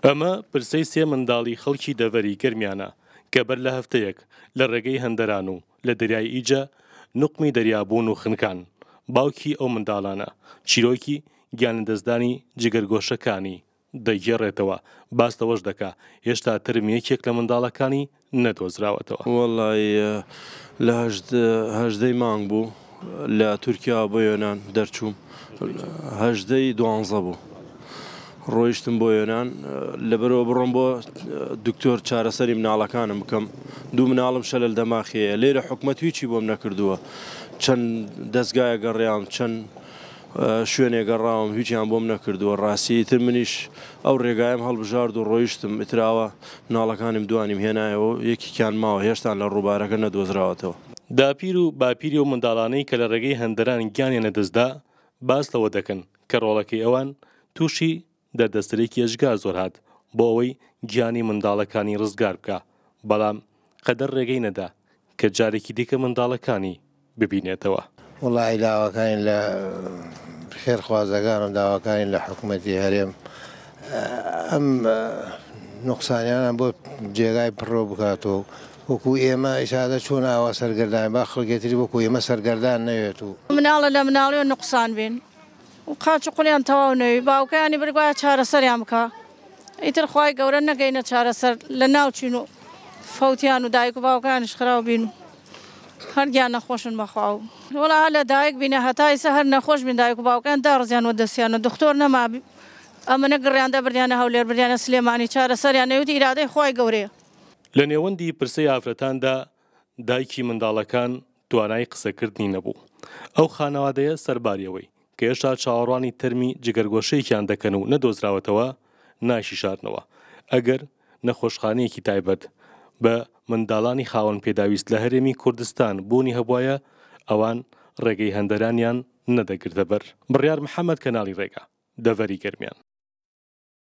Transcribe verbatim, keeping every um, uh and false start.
ئەمە پرسەی سێ منداڵی خەڵکی دەڤەری گەرمیانە کە بەر لە هەفتەیەک لە ڕێگەی هەندەران و لە دەریای ئیجە نوقمی دەریابوون و خنکان. باوکی ئەو منداڵانە چیرۆکی گیانلەدەستدانی جگەرگۆشەکانی دەگێڕێتەوە، باس لەوەش دەکا هێشتا تەرمی یەکێک لە منداڵەکانی نەدۆزراوەتەوە. وەڵای لە هەژدەی مانگ بوو لە تورکیا بۆ یۆناان دەرچووم، هەژدەی دوانزە بوو ڕۆیشتم بۆ یۆناان، لەبەرەوە بڕۆم بۆ دکتۆر چارەسەری مناڵەکانم بکەم. دوو مناڵم شەلەل دەماخەیە، لێرە حکومەت هیچی بۆم نەکردووە، چەند دەستگایە گەڕیام، چەند شوێنێ گەڕاوم، هیچیان بۆم نەکردووە. ڕاستی ئیتر منیش ئەو ڕێگایم هەڵبژارد و ڕۆیشتم، ئیتراوە مناڵەکانم دوانیم هێنایەوە، یەکێکیان ماوە هێشتان لە ڕووبارەکە نەدۆزراوەتەوە. داپیر و باپیری و منداڵانەی کە لە ڕێگەی هەندەران گیانیان لەدەستدا باس لەوە دەکەن کە ڕۆڵەکەی ئەوان تووشی دەردەسەرێکی ئێجگار زۆر هات بۆ ئەوەی گیانی منداڵەکانی ڕزگار بکە، بەڵام قەدەر ڕێگەی نەدا کە جارێکی دیکە منداڵەکانی ببینێتەوە. وەڵی داواکانی لە خێرخوازەکانم، داواکانی لە حکوومەتی هەرێم ئەم نقصانیانە بۆ جێگای پڕۆ بکاتەوە. وەکو ئێمە ئیشادە چۆن ئاوا سەرگەردان با خەڵکێتری وەکو ئێمە سەرگەردان نەوێت و مناڵە لە مناڵیەوە نقصان بین و قاچ و قوڵیان تەواو نەوی، باوکیانی بڕگوایە چارەسەریان بکە، ئیتر خوای گەورە نەگەینە چارەسەر لە ناوچین و فەوتیان و دایک و باوکانیش خراو بین و هەرگیان نەخۆشن بەخواو. وەڵا لە دایک بینە هەتا ئیسا هەر نەخۆش بین، دایک و باوکیان داڕزیان و دەستیان و دکتۆر نەما، ئەمە گڕیان دەبردیانە هەولێر، بردیانە سلێمانی، چارەسەریان نەویت، ئیرادەی خوای گەورەیە. لە نێوەندی پرسەی ئافرەتاندا دایکی منداڵەکان توانای قسەکردنی نەبوو. ئەو خانەوادەیە سەرباریەوەی کە هێشتا چاوەڕوانی تەرمی جگەرگۆشەیەکیان دەکەن و نەدۆزراوەتەوە ناشیشارنەوە ئەگەر نەخۆشخانەیەکی تایبەت بە منداڵانی خاوەن پێداویست لە هەرێمی کوردستان بوونی هەبوایە ئەوان ڕێگەی هەندەرانیان نەدەگرتە بەر. بڕیار محەممەد، کەناڵی ڕێگا، دەڤەری گەرمیان.